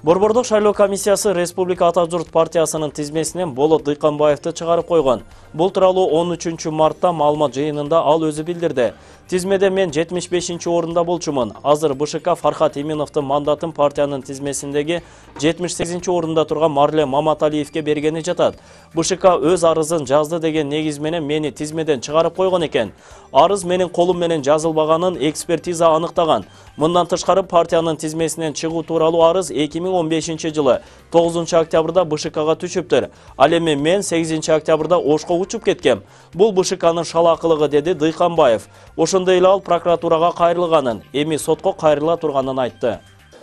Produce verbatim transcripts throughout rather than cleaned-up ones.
Борбордук шайлоо комиссиясы Республика Ата журт партиясынын тизмесинен Болот Дыйканбаевди чыгарып койгон. Бул тууралуу он үчүнчү мартта маалымат жыйынында ал өзү билдирди. Тизмеде мен жетимиш бешинчи орунда болчумун. Азыр БШК Фархат Иминовдун мандатын партиянын тизмесиндеги жетимиш сегизинчи орунда турган Марле Маматалиевге бергени жатат. БШК өз арызын жазды деген негиз менен мени тизмеден чыгарып койгон экен. Арыз менин колум менен жазылбаганын экспертиза аныктаган. Мындан тышкары партиянын тизмесинен чыгуу тууралуу арыз эки миң он бешинчи жылы тогузунчу октябрда БШКга түшүптүр. Ал эми мен сегизинчи октябрда Ошко учуп кеткем. Бул БШКнын шалаакылыгы, деди Дыйканбаев. Ошондой эле ал прокуратурага кайрылганын, эми сотко кайрыла турганын айтты.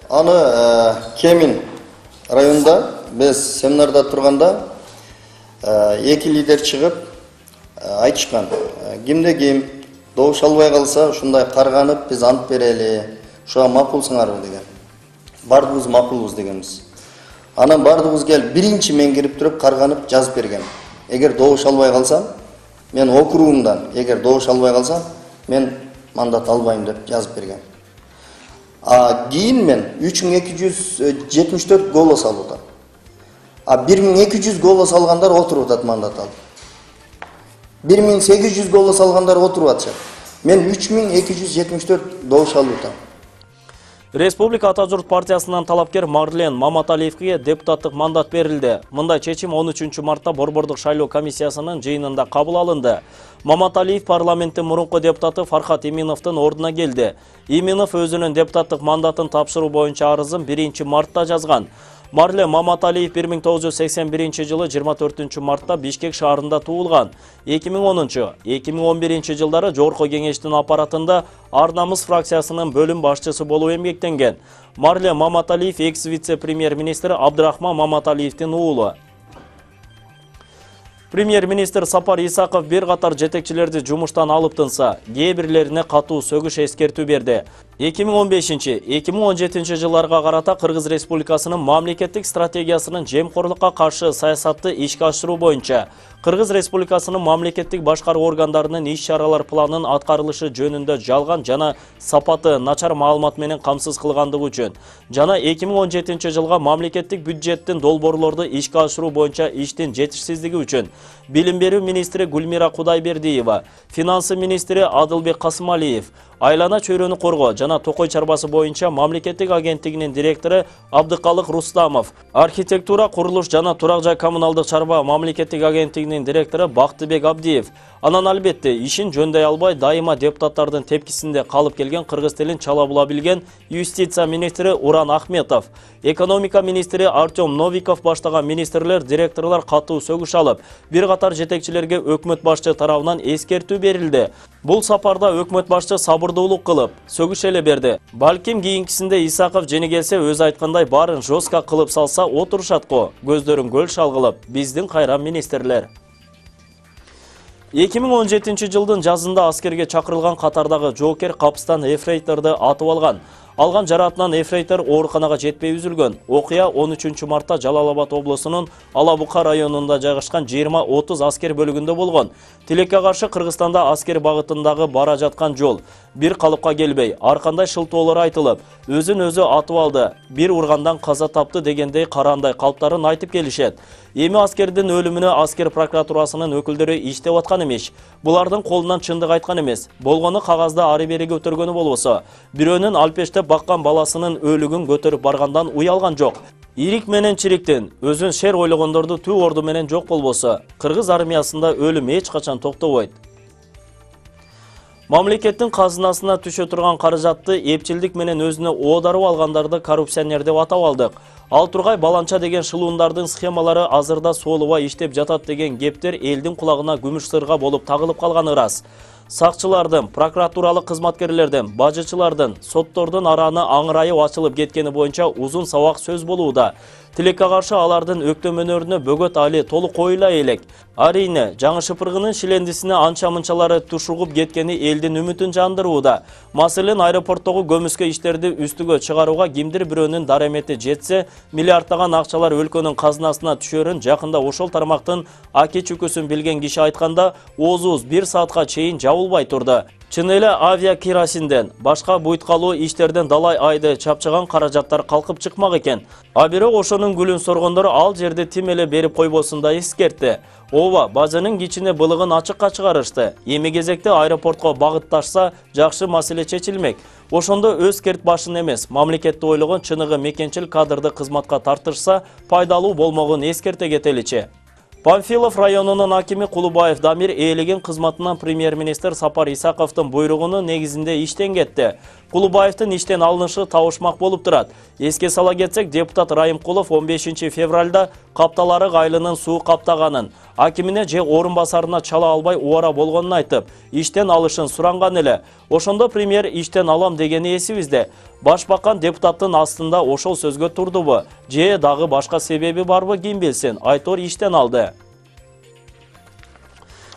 Аны Кемин районунда биз семинарда турганда эки лидер чыгып айтышкан. Кимде ким добуш албай калса ушундай карганып биз ант берели, ушуга макулсуңарбы деген. Бардыгыбыз макулбуз дегенбиз. Анан бардыгыбыз келип биринчи мен кирип туруп карганып жазып бергем. Эгер добуш албай калсам, мен округумдан эгер добуш албай калсам, мен мандат албайм деп жазып бергем. А кийин мен үч миң эки жүз жетимиш төрт голос алып атам. А бир миң эки жүз голос алгандар отуруп атат мандат алып. бир миң сегиз жүз голос алгандар отуруп атышат. Мен үч миң эки жүз жетимиш төрт добуш алып атам. Республика Ата журт партиясынан талапкер Марлен Маматалиевге депутаттык мандат берилди. Мындай чечим он үчүнчү мартта Борбордук шайлоо комиссиясынын жыйынында кабыл алынды. Маматалиев парламенттин мурунку депутаты Фархат Иминовдун ордуна келди. Иминов өзүнүн депутаттык мандатын тапшыруу боюнча арызын биринчи мартта жазган. Марле Маматалиев бир миң тогуз жүз сексен биринчи жылы жыйырма төртүнчү мартта Бишкек шаарында туулган. эки миң онунчу — эки миң он биринчи жылдары Жогорку кеңештин аппаратында Ар намыс фракциясынын бөлүм башчысы болуп эмгектенген. Марле Маматалиев экс-вице-премьер-министр Абдрахман Маматалиевдин уулу. Премьер-министр Сапар Исаков бир катар жетекчилерди жумуштан алып тынса, кээ бирлерине катуу сөгүш эскертүү берди. эки миң он бешинчи — эки миң он жетинчи жылдарга карата Кыргыз Республикасынын мамлекеттик стратегиясынын жемкорлукка каршы саясатты ишке ашыруу боюнча Кыргыз Республикасынын мамлекеттик башкаруу органдарынын иш-чаралар планын аткарылышы жөнүндө жалган жана сапаты начар маалымат менен камсыз кылгандыгы үчүн жана эки миң он жетинчи жылга мамлекеттик бюджеттин долбоорлорду ишке ашыруу боюнча иштин жетишсиздиги үчүн Билим берүү министри Гүлмира Кудайбердиева, финансы министри Адылбек Касымалиев, айлана чөйрөнү коргоо жана токой чарбасы боюнча мамлекеттик агенттигинин директору Абдыкалык Рустамов, архитектура, курулуш жана турак жай коммуналдык чарба мамлекеттик агенттигинин директору Бактыбек Абдиев. Анан албетте ишин жөндөй албай дайыма депутаттардын тепкисинде калып келген кыргыз тилин чала була билген юстиция министри Уран Ахметов, экономика министри Артем Новиков баштаган министрлер, директорлор катуу сөгүш алып, бир катар жетекчилерге өкмөт башчы тарабынан эскертүү берилди. Бул сапарда өкмөт башчы сабырдуулук кылып, сөгүш эле берди. Балким кийинкисинде Исаков жени келсе өз айткандай баарын жостко кылып салса отурушат го. Көздөрүн көл шалгылып, биздин кайран министрлер. эки миң он жетинчи жылдын жазында аскерге чакырылган катардагы жоокер капыстан эфрейторду атып алган. Алган жараатынан эфрейтор ооруканага жетпей үзүлгөн. Окуя он үчүнчү мартта Жалал Абад облусунун Алабука районунда жайгашкан жыйырма отуз аскер бөлүгүндө болгон. Тилекке каршы Кыргызстанда аскер багытындагы бара жаткан жол бир калыпка келбей, ар кандай шылтоолор айтылып, өзүн өзү атып алды, бир ургандан каза тапты дегендей карандай калптарын айтып келишет. Эми аскердин өлүмүнө аскер прокуратурасынын өкүлдөрү иштеп аткан эмес. Булардын колунан чындык айткан эмес. Болгону кагазда ары бери көтөргөнү болбосо, бирөөнүн алпештеп баккан баласынын өлүгүн көтөрүп баргандан уялган жок. Ирик менен чириктин өзүн шер ойлогондорду түү орду менен жок болбосо, кыргыз армиясында өлүм эч качан токтобойт. Мамлекеттин казынасына түшө турган каражатты эпчилдик менен өзүнө оодарып алгандарды коррупционер деп атап алдык. Ал тургай баланча деген шылуундардын схемалары азырда соолубай иштеп жатат деген кептер элдин кулагына күмүш сырга болуп тагылып калганы ырас. Сакчылардын, прокуратуралык кызматкерлердин, бажычылардын, соттордун арааны аңырайып ачылып кеткени боюнча узун сабак сөз болууда. Тилекке каршы алардын өктөмөнөрүнө бөгөт али толук коюла элек. Арийне, жаңы шыпыргынын шилендисине анча-мынчалары тушугуп кеткени элдин үмүтүн жандырууда. Маселен, аэропорттогу көмүскө иштерди үстүгө чыгарууга кимдир бирөөнүн дарамети жетсе, миллиардтаган акчалар өлкөнүн казынасына түшөрүн жакында ошол тармактын аки чүкүсүн билген киши айтканда, оозубуз бир саатка чейин жабылып табылбай турду. Чын эле авиа керосинден, башка буйткалуу иштерден далай айды чапчыган каражаттар калкып чыкмак экен. А бирок ошонун гүлүн соргондор ал жерди тим эле берип койбосун да эскертти. Ооба, бажанын кичине былыгын ачыкка чыгарышты. Эми кезекте аэропортко багытташса, жакшы маселе чечилмек. Ошондо өз керт башын эмес, мамлекетти ойлогон чыныгы мекенчил кадрды кызматка тартышса, пайдалуу болмогун эскерте кетеличи. Панфилов районунун акими Кулубаев Дамир ээлеген кызматынан премьер-министр Сапар Исаковдун буйругунун негизинде иштен кетти. Кулубаевдин иштен алынышы табышмак болуп турат. Эске сала кетсек, депутат Райымкулов он бешинчи февралда капталары гайлынын суу каптаганын, акимине же орун басарына чала албай убара болгонун айтып, иштен алышын суранган эле. Ошондо премьер иштен алам дегени эсибизде. Башбакан депутаттын астында ошол сөзгө турдубу, же дагы башка себеби барбы ким билсин, Айтор иштен алды.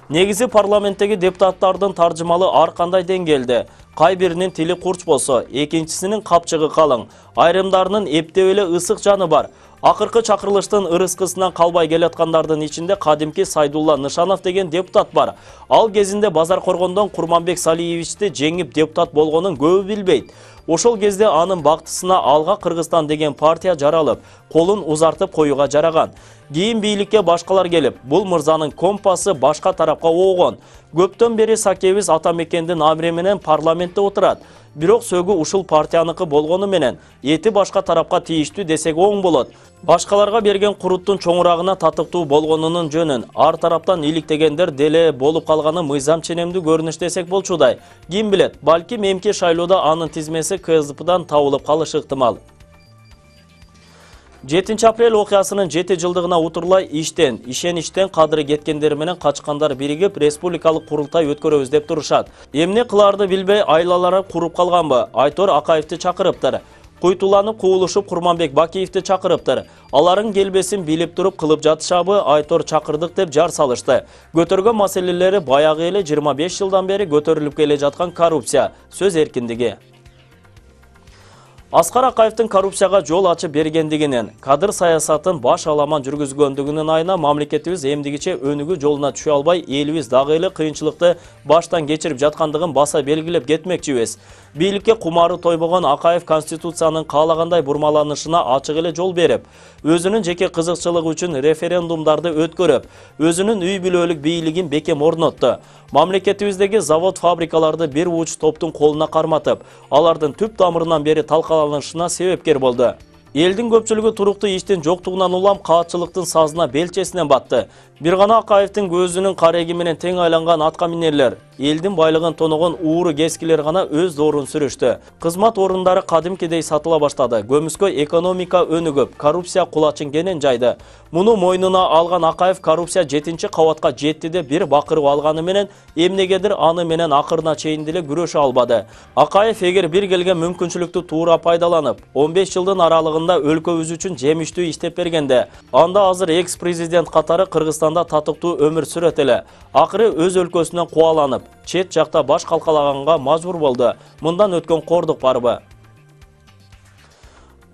Негизи парламенттеги депутаттардын таржымалы ар кандай деңгээлде. Кай биринин тили курч болсо, экинчисинин капчыгы калың, айрымдарынын эптеп эле ысык жаны бар. Акыркы чакырылыштын ырыскысынан калбай келаткандардын ичинде кадимки Сайдулла Нышанов деген депутат бар. Ал кезинде Базар Коргондон Курманбек Салиевичти жеңип депутат болгонун көбү билбейт. Ошол кезде анын бактысына Алга Кыргызстан деген партия жаралып, колун узартып коюга жараган. Кийин бийликке башкалар келип, бул мырзанын компасы башка тарапка оогон. Көптөн бери Сакебиз Атамекендин амри менен парламентте отурат. Бирок сөгү ушул партияныкы болгону менен эти башка тарапка тийиштүү десек оң болот. Башкаларга берген куруттун чоңурагына татыктуу болгонунун жөнүн ар тараптан иликтегендер деле болуп калганы мыйзам ченемдүү көрүнүш десек болчудай. Ким билет, балки эмки шайлоодо анын тизмеси КСДПдан табылып калышы ыктымал. жетинчи апрель окуясынын жети жылдыгына утурлай иштен, ишеничтен кадыры кеткендер менен качкандар биригип республикалык курултай өткөрөбүз деп турушат. Эмне кылаарды билбей айлалары куруп калганбы? Айтор Акаевди чакырыптыр. Куйтуланып куулушуп Курманбек Бакиевди чакырыптыр. Алардын келбесин билип туруп кылып жатышабы, Айтор чакырдык деп жар салышты. Көтөргөн маселелери баягы эле жыйырма беш жылдан бери көтөрүлүп келе жаткан коррупция, сөз эркиндиги. Аскар Акаевдин коррупцияга жол ачып бергендигинен, кадыр саясатын баш аламан жүргүзгөндүгүнүн айына мамлекетибиз эмдигиче өнүгүү жолуна түшө албай, элибиз дагы эле кыйынчылыкты баштан кечирип жаткандыгын баса белгилеп кетмекчибиз. Бийликке кумары тойбогон Акаев конституциянын каалагандай бурмаланышына ачык эле жол берип, өзүнүн жеке кызыкчылыгы үчүн референдумдарды өткөрүп, өзүнүн үй бүлөлүк бийлигин бекем орнотту. Мамлекетибиздеги завод-фабрикаларды бир уч топтун колуна карматып, алардын түп тамырынан бери талкаланышына себепкер болду. Элдин көпчүлүгү туруктуу иштин жоктугунан улам каатчылыктын сазына белчесинен батты. Бир гана Акаевдин көзүнүн кареги менен тең айланган атка минерлер, элдин байлыгын тоногон ууру кескилер гана өз доорун сүрүштү. Кызмат орундары кадимкидей сатыла баштады. Көмүскө экономика өнүгүп, коррупция кулачын кенен жайды. Муну мойнуна алган Акаев коррупция жетинчи кабатка жетти деп бир бакырып алганы менен эмнегедир аны менен акырына чейин деле күрөшө албады. Акаев эгер бир келген мүмкүнчүлүктү туура пайдаланып, он беш жылдын аралыгында өлкөбүз үчүн жемиштүү иштеп бергенде, анда азыр экс-президент катары Кыргызстанда татыктуу өмүр сүрөт эле. Акыры өз өлкөсүнөн кубаланып, чет жакта баш калкалаганга мажбур болду. Мындан өткөн кордук барбы?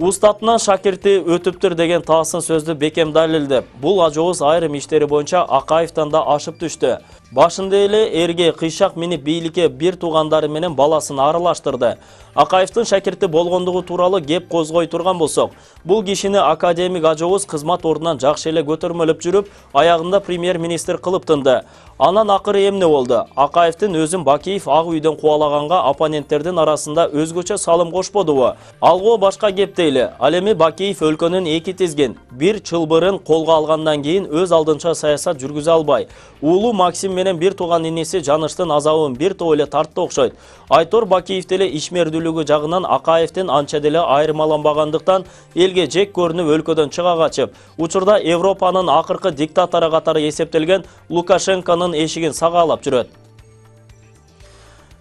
Устатынан шакирти өтүптүр деген таасын сөздү бекем далилдеп, бул ажообуз айрым иштери боюнча Акаевден да ашып түштү. Башында эле эрге кыйшак минип бийликке бир туугандары менен баласын аралаштырды. Акаевдин шакирти болгондугу тууралуу кеп козгой турган болсок, бул кишини академик ажообуз кызмат ордунан жакшы эле көтөрмөлөп жүрүп, аягында премьер-министр кылып тынды. Анан акыры эмне болду? Акаевдин өзүн Бакиев Ак үйдөн кубалаганга оппоненттердин арасында өзгөчө салым кошподубу? Алгы башка кеп дейли. Ал эми Бакиев өлкөнүн эки тизгин, бир чылбырын колго алгандан кийин өз алдынча саясат жүргүзө албай, уулу Максим менен бир тууган иниси Жаныштын азабын бир топ эле тартты окшойт. Айтор Бакиев деле ишмердүүлүгү жагынан Акаевдин анча деле айырмаланбагандыктан элге жек көрүнүп өлкөдөн чыга качып, учурда Европанын акыркы диктатору катары эсептелген Лукашенконун эшигин сагаалап жүрөт.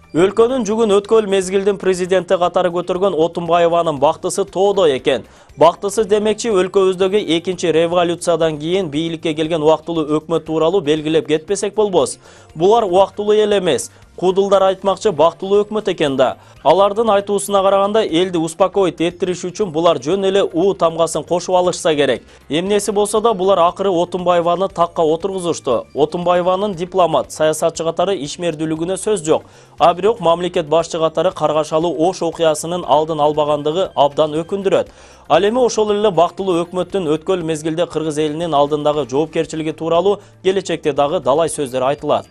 Өлкөнүн жүгүн өткөл мезгилдин президенти катары көтөргөн Отунбаеванын бактысы тоодо экен. Бактысы демекчи, өлкөбүздөгү экинчи революциядан кийин бийликке келген убактылуу өкмөт тууралуу белгилеп кетпесек болбос. Булар убактылуу эл эмес. Кудулдар айтмакчы бактылуу өкмөт экен да. Алардын айтуусуна караганда элди успокоить эттириш үчүн булар жөн эле уу тамгасын кошуп алышса керек. Эмнеси болсо да булар акыры Отунбаеваны такка отургузушту. Отунбаеванын дипломат, саясатчы катары ишмердүүлүгүнө сөз жок. А бирок мамлекет башчы катары Каргашалы Ош окуясынын алдын албагандыгы абдан өкүндүрөт. Ал эми ошол эле бактылуу өкмөттүн өткөл мезгилде кыргыз элинин алдындагы жоопкерчилиги тууралуу келечекте дагы далай сөздөр айтылат.